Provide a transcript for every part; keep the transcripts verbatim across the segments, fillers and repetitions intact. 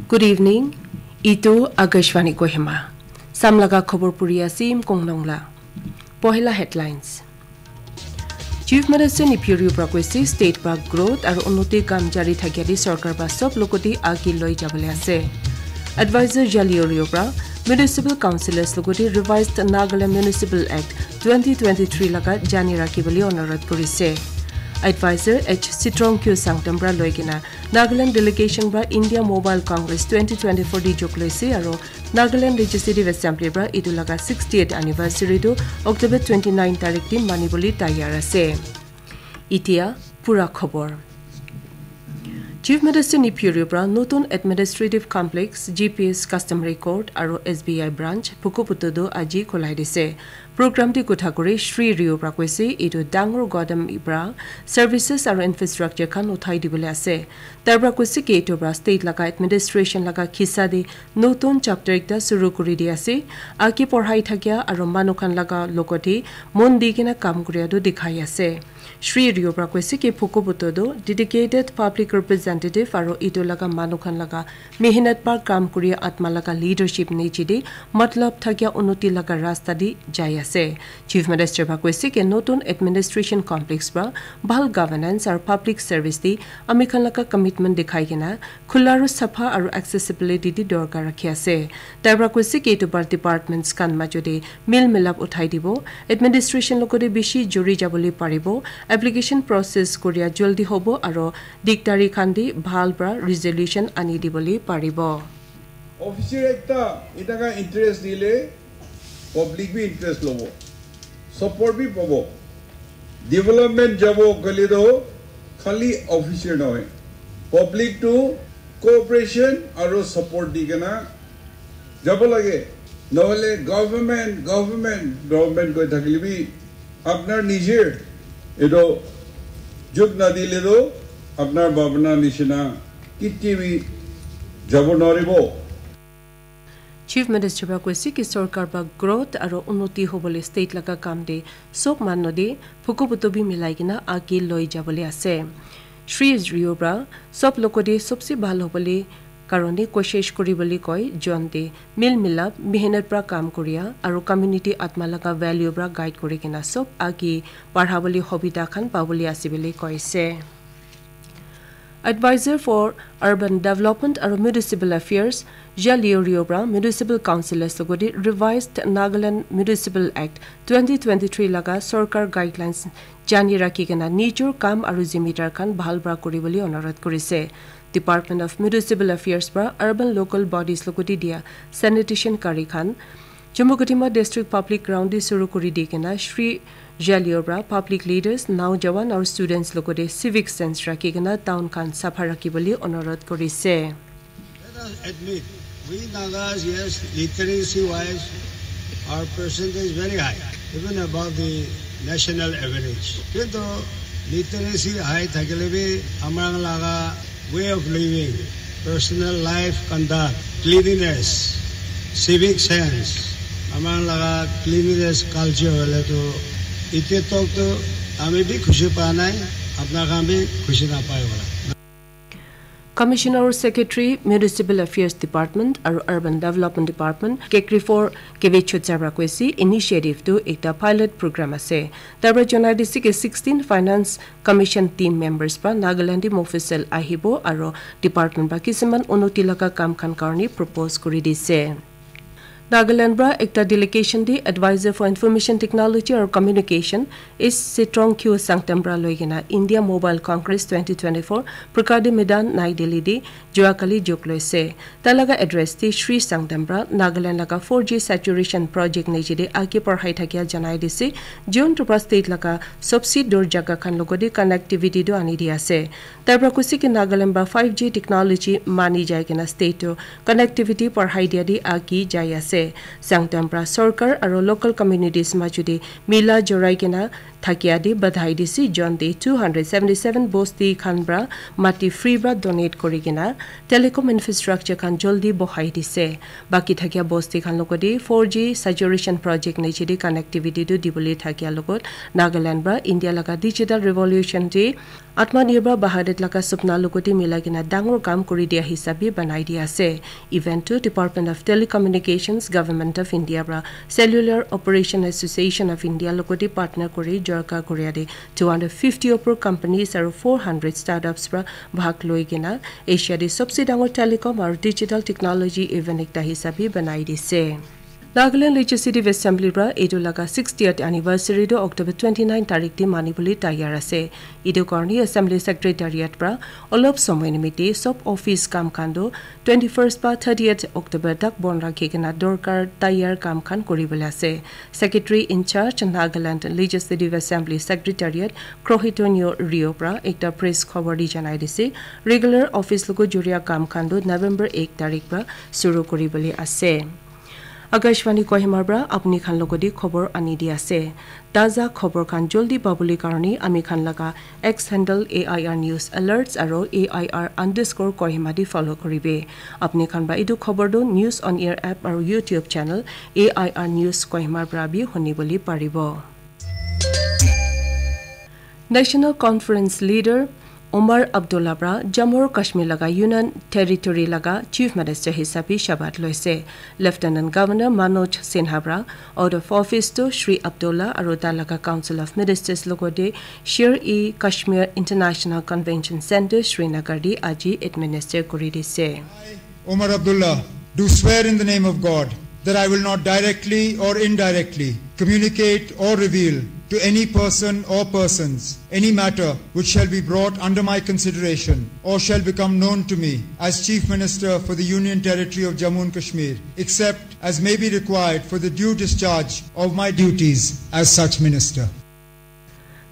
Good evening. Itu Akashvani Kohima. Samlaga khobor puri asim kongnong la. Pohila headlines. Chief Minister Neiphiu Rio pra koise state pra growth aru unnoti kam jari thakia di sorkar pra sob logoti agi loi jabole ase. Advisor Jalio Rio pra Municipal Councillors logoti revised Nagaland Municipal Act twenty twenty-three laga jani rakhi bole onurodh kurise. Advisor H Sitrong Kyu Sangtam pra loi kena Nagaland delegation pra India Mobile Congress twenty twenty-four di jok loise aru Nagaland Legislative Assembly pra itu laga sixtieth anniversary tu October twenty-nine tarik di mani bole tayar ase. Itia pura khobor. Chief Minister Neiphiu Rio pra notun administrative complex, G P S customary court aru S B I branch Phukuputu tu aji khulai dise. Program te kotha kuri Shri Rio pra koise itu dangor gadam pra services aru infrastructure khan uthai dibole ase. Tar pra koise ki itu pra state laga administration laga khisa te notun chapter ekta suru kuri di ase. Agi porhai thakia aru manu khan laga logote mon di kena kam kuria tu dikhai ase. Shri Rio pra koise ki Phukuputu tu dedicated public representative aru itu laga manu khan laga mehnat pra kam kuri atma laga leadership niche te matlab thakia unnoti laga rasta di jai ase. Chief Minister pra koise ki notun administration complex pra bhal governance aru public service di ami khan laga commitment dikhai kena khula aru sapha aru accessibility di dorkar rakhi ase. Tai pra koise ki itu par departments khan majo te mil milap uthai dibo, administration logote bishi juri jabole paribo, application process kuria jaldi hobo aru dikdari khan te bhal pra resolution ani dibole paribo. Officer ekta enaka interest dile public bi interest lobo, support bi pabo. Development jabo koile to khali officer nohoi, public to cooperation aru support di kena jabo lage. Nohole government, government, government koi thakile bi apnar nijer etu jok nadile to apnar bhabna nishina kiti bi jabo noribo. Chief Minister pra koise ki sorkar pra growth aru unnoti hobole state laga kam te sob manu de Phukuputu bi milai kena agi loi jabole ase. Shri Rio pra sob logote sobse bhal hobole karone koshish kuri bole koi, jon te mil milap, mehnat pra kam kuria aru community atma laga value pra guide kuri kena sob agi barha bole hobita khan pabole ase bole koise. Advisor for Urban Development aru Municipal Affairs, Jalio Rio pra Municipal Councillors logote revised Nagaland Municipal Act twenty twenty-three laga sorkar guidelines jani rakhi kena nijor kam aru zimidar khan bhal pra kuri bole onurodh kurise. Department of Municipal Affairs pra urban local bodies logote dia sanitation kari khan Chumukedima District Public Ground te suru kuri di kena Shri Jalio pra public leaders, naujawan aru students logote civic sense rakhi kena town khan sapha rakhi bole onurodh kurise. Let us admit, we Nagas, yes, literacy wise, our percentage is very high, even above the national average. Kintu literacy high thakile bi amar laga way of living, personal life conduct, cleanliness, civic sense, amar laga cleanliness culture hoile tu etia tok tu ami bi khushi pa nai, apna khan bi khushi na pai hola. Commissioner aru Secretary, Municipal Affairs Department aru Urban Development Department, Kekrifo Kevichut Sabra koise initiative tu ekta pilot program ase. Tar pra janai dise ki sixteen Finance Commission team members pra Nagaland te Mofussil ahibo aru department pra kisiman unnoti laga kam khan karne propose kuri dise. Nagaland pra ekta delegation te Advisor for Information Technology aru Communication, S Sitrong Kyu Sangtam pra loi kena India Mobile Congress twenty twenty-four Pragati Maidan, Nai Delhi te jua kali jok loise. Tai laga address te Shri Sangtam pra Nagaland laga four G saturation project niche te age parhai thakia janai dise, jiun tu pra state laga sobse dur jaga khan logote connectivity tu ani di ase. Tai pra koise ki Nagaland pra five G technology mani jai kena state tu connectivity parhai dia te agi jai ase. Sangtam pra sorkar aru local communities majo te mila jorai kena thakia te badhai dise, jon te two hundred seventy seven bosti khan pra mati free pra donate kuri kena telecom infrastructure khan joldi bohai dise. Baki thakia bosti khan logote four G saturation project niche te connectivity tu dibole thakia logot Nagaland pra India laga digital revolution te Atmanirbhar Bharat laga supna logote milai kena dangor kam kuri dia hisabe banai dia ase. Event tu Department of Telecommunications, Government of India pra Cellular Operation Association of India logote partner kuri jorka kuria te two hundred fifty opor companies aru four hundred startups pra bhag loi kena Asia te sobse dangor telecom aru digital technology event ekta hisabe banai dise. Nagaland Legislative Assembly pra etu laga sixtieth anniversary tu October twenty nine tarik te mani bole tayar ase. Etu karne Assembly Secretariat pra olop somoy nimite sob office kam khan tu twenty first pa thirtieth October tak bon rakhi kena dorkar tayar kam khan kuri bole ase. Secretary in charge Nagaland Legislative Assembly Secretariat Krohitonyo Rio pra ekta press khobor di janai dise. Regular office logo juria kam khan tu November ek tarik pra suru kuri bole ase. Akashvani Kohima pra apni khan logote khobor ani di ase. Taza khobor khan joldi pabole karne ami khan laga X handle A I R News Alerts aro A I R underscore Kohima di follow kuribe. Apni khan ba etu khobor tu News on Air app aro YouTube channel A I R News Kohima pra bi huni bole paribo. National Conference Leader Omar Abdullah pra Jammu aru Kashmir laga Union Territory laga Chief Minister hisabe shabat loise. Lieutenant Governor Manoj Sinha pra out of office tu Shri Abdullah aru tai laga Council of Ministers logote Sher-e-Kashmir International Convention Center Srinagar te aji administer kuri dise. Omar Abdullah, do swear in the name of God that I will not directly or indirectly communicate or reveal to any person or persons any matter which shall be brought under my consideration or shall become known to me as Chief Minister for the Union Territory of Jammu and Kashmir, except as may be required for the due discharge of my duties as such minister.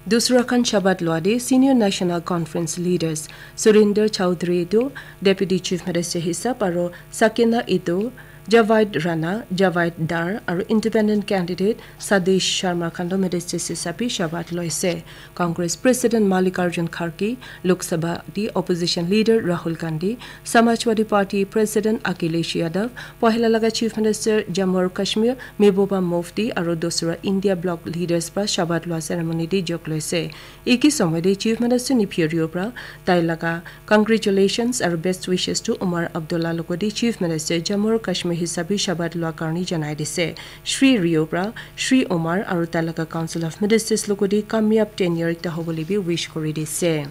Dusra khan shabat lua de Senior National Conference Leaders Surinder Chowdhury tu Deputy Chief Minister hisab aro Sakina Eto, Javaid Rana, Javaid Dar aro Independent Candidate Sadish Sharma khan tu Ministers hisabe shabat loise. Congress President Mallikarjun Kharge, Lok Sabha di Opposition Leader Rahul Gandhi, Samajwadi Party President Akhilesh Yadav, pohila laga Chief Minister Jammu aru Kashmir Mehbooba Mufti aro dusra India Bloc Leaders pra shabat lua ceremony te jog loise. Eki somoy te Chief Minister Neiphiu Rio pra tai laga congratulations aro best wishes to Omar Abdullah logote Chief Minister Jammu aru Kashmir hisabe shabat lua karne janai dise. Shri Rio pra Shri Omar aro tai laga Council of Ministers logote kamyab tenure ekta hobole bi wish kuri dise.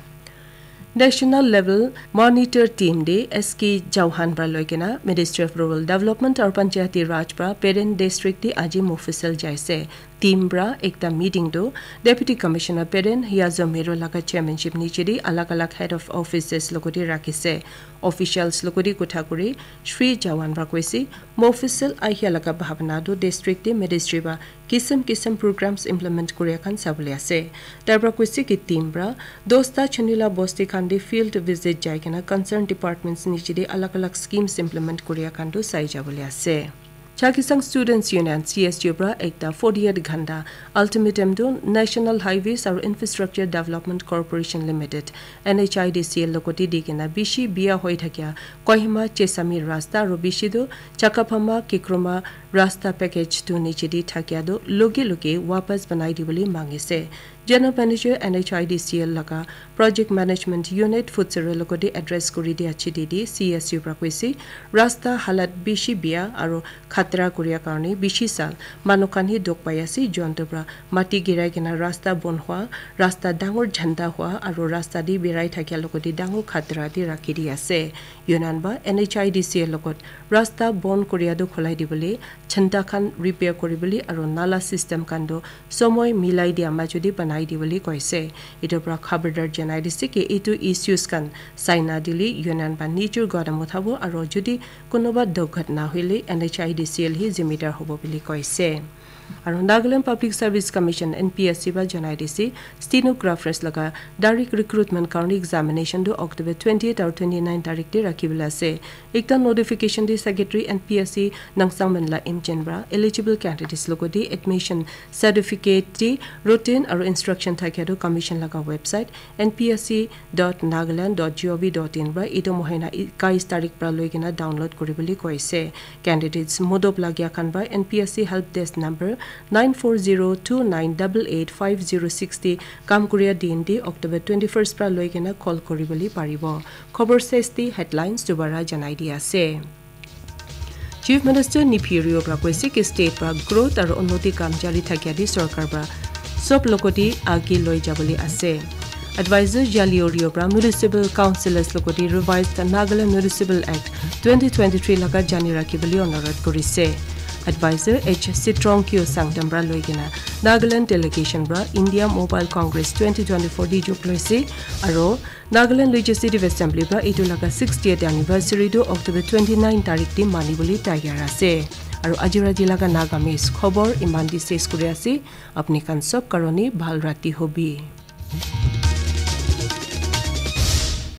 National level monitor team de S K Chauhan pra loi kena Ministry of Rural Development aru Panchayati Raj pra Peren district de aji Mofussil jaise. Team pra ekta meeting tu Deputy Commissioner Peren Hiyazo Mero laga chairmanship niche de alag alag head of offices logote rakhise. Officials logote kotha kuri Shri Chauhan pra koise, Mofussil ahia laga bhabana tu district de ministry pra kisim kisim programs implement kuria khan sabole ase. Tai pra koise ki team pra dosta chunila bosti khan de field visit jai kena concerned departments niche de alag alag schemes implement kuria khan tu sai jabole ase. Chakhesang Students Union, C S U pra ekta forty eight ghanta ultimatum tu National Highways aru Infrastructure Development Corporation Limited, N H I D C L logote di kena bishi bia hoi thakia Kohima Chesami rasta aru bishi tu Chakapama Kikroma rasta package tu niche di thakia tu loge loge wapas banai dibole mangise. General Manager N H I D C L laga Project Management Unit Futsero logote address kuri dia chiti di C S U pra koise, rasta halat bishi bia aru khatra kuria karne bishi sal manu khan hi dukh pai ase, jonto pra mati girai kena rasta bon hua, rasta dangor jhanda hua aru rasta di birai thakia logote dangor khatra di rakhi di ase. Union ba N H I D C L logot rasta bon kuria tu khulai dibole, jhanda khan repair kuribole aru nala system khan tu somoy milai dia majudi banai dibole koise. Etu pra khabardar janai dise ki etu issues khan saina dile Union ba nijor gadam uthabo aru judi kunuba durghatna hoile N H I D C L hi zimidar hobo bole koise. Aru Nagaland Public Service Commission, N P S C, para janai dise, stenographers laga direct recruitment karone examination tu October twenty-eight aru twenty-nine tarik te rakhi bole ase. Ekta notification te Secretary N P S C Nangsangmen la Imchen para eligible candidates logote admission certificate te routine aru instruction thakia tu commission laga website N P S C dot nagaland dot gov dot in para etu mohina ikais tarik para loi kena download kuri bole koise. Candidates modop lagia khan para N P S C help desk number nine four zero two nine double eight five zero six te kam kuria din te October twenty-first para loi kena call kuri bole paribo. Khobor ses te headlines dubara janai di ase. Chief Minister Neiphiu Rio para koise ki state para growth aru unnoti kam jari thakia di sorkar para sob logote age loi jabole ase. Advisor Jalio Rio para municipal councillors logote revised Nagaland Municipal Act twenty twenty-three laga jani rakhi bole onurodh korise. Advisor H Sitrong Kyo Sangtam para loi kena Nagaland delegation para India Mobile Congress twenty twenty-four di jok loise aru Nagaland Legislative Assembly para etu laga sixtieth anniversary tu October twenty-nine tarik te mani bole tayar ase. Aru aji rati laga Nagamese khobor iman di ses kuri ase. Apni khan sob karone bhal rati hobi.